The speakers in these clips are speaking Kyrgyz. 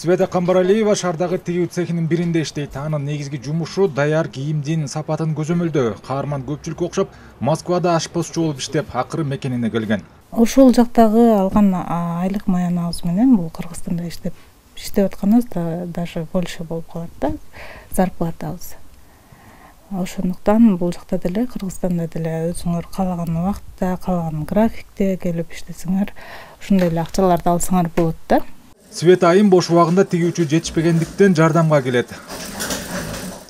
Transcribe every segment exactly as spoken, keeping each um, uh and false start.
Света Камбаралиева шаардагы тигүү цехинин биринде иштейт. Анын негизги жумушу даяр кийимдин сапатын көзөмөлдөө. Каарман көпчүлүккө окшоп Москвада ашпозчу болуп иштеп, акыры мекенине келген. Ошол жактагы алган айлык маянабыз менен бул Кыргызстанда иштеп иштеп атканыбыз да даже больше болуп калат да зарплатабыз. Ошондуктан бул жакта деле Кыргызстанда деле өзүңөр каалаган убакытта, каалаган графикте келип иштесеңер, ошондой эле акчаларды алсаңар болот да. Света айым бош убагында тигүүчү жетишпегендиктен жардамга келет.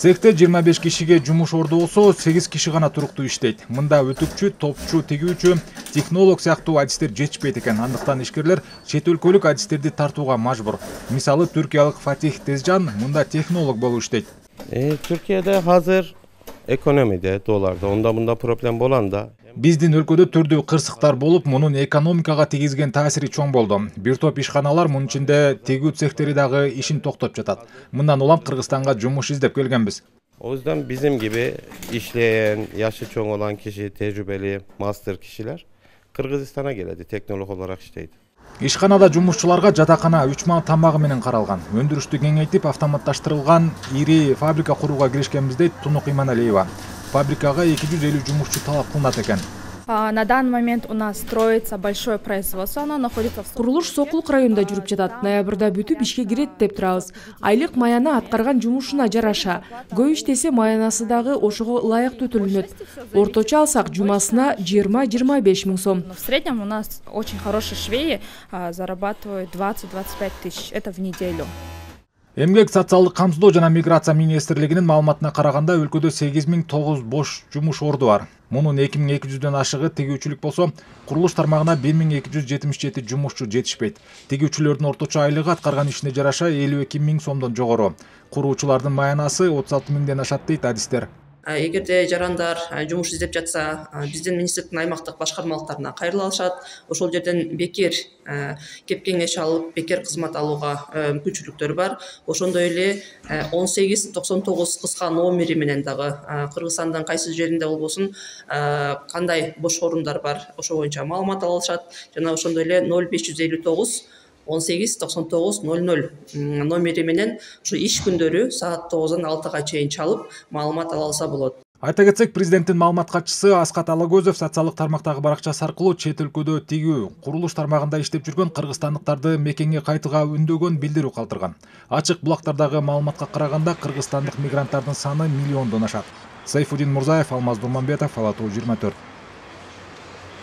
Цехте жыйырма беш кишиге жумуш орду болсо, сегиз киши гана туруктуу иштейт. Мында өтүкчү, топчу, тигүүчү, технолог сыяктуу адистер жетишпейт экен. Андыктан ишкерлер чет өлкөлүк адистерди тартууга мажбур. Мисалы, түркиялык Фатих Тезжан мында технолог болуп иштейт. Э, Түркияда азыр экономияда, долларда, онда мында проблем болганда. Биздин өлкөдө түрдүү кырсыктар болуп, мунун экономикага тийгизген таасири чоң болду. Бир топ ишканалар, мунун ичинде тигүү цехтери дагы ишин токтоп жатат. Мындан улам Кыргызстанга жумуш издеп келгенбиз. O yüzden bizim gibi işleyen, yaşı çoğ olan kişi, tecrübeli, master kişiler Kırgızistan'a geledi, teknolog olarak işteydi. Ишканада жумушчуларга жатакана үч мал тамагы менен каралган. Өндүрүштү кеңейтип, автоматташтырылган ири фабрика курууга киришкенбиз дейт Тунук Иманалиева. Фабрикага эки жүз элүү жумушчу талап кылынат экен. На данный момент у нас строится большое производство, оно находится в... Курулуш Сокулук районунда жүрүп жатат. Ноябрда бүтүп ишке кирет деп турабыз. Айлык маяна аткарган жумушуна жараша. Көп иштесе маянасы дагы ошого ылайыктуу төлөнөт. Орточо алсак жумасына жыйырма жыйырма беш миң сом. В среднем у нас очень хорошие швеи зарабатывают двадцать двадцать пять тысяч. Это в неделю. Эмгек социалдык камсыздоо жана миграция министрлигинин маалыматына караганда өлкөдө сегиз миң тогуз жүз бош жумуш орду бар. Мунун эки миң эки жүздөн ашыгы тигүүчүлүк болсо, курулуш тармагына бир миң эки жүз жетимиш жети жумушчу жетишпейт. Тигүүчүлөрдүн орточо айлыгы аткарган ишине жараша элүү эки миң сомдон жогору. Куруучулардын маянасы отуз алты миңден ашат дейт адистер. Эгерде жарандар жумуш издеп жатса, биздин министрликтин аймактык башкармалыктарына кайрыла алышат. Ошол жерден бекер кеп кеңеш алып, бекер кызмат алууга мүмкүнчүлүктөр бар. Ошондой эле он сегиз токсон тогуз кыска номери менен дагы Кыргызстандын кайсы жеринде болбосун кандай бош орундар бар, ошо боюнча маалымат ала алышат. Жана ошондой эле ноль беш жүз элүү тогуз он сегиз токсон тогуз ноль ноль номери менен ушу иш күндөрү саат тогуздан алтыга чейин чалып маалымат ала алса болот. Айта кетсек, президенттин маалымат катчысы Аскат Алагөзов социалдык тармактагы баракчасы аркылуу чет өлкөдө тигүү, курулуш тармагында иштеп жүргөн кыргызстандыктарды мекенге кайтууга үндөгөн билдирүү калтырган. Ачык булактардагы маалыматка караганда кыргызстандык мигранттардын саны миллиондон ашат. Сайфудин Мурзаев, Алмаз Дурманбетов, Ала Тоо жыйырма төрт.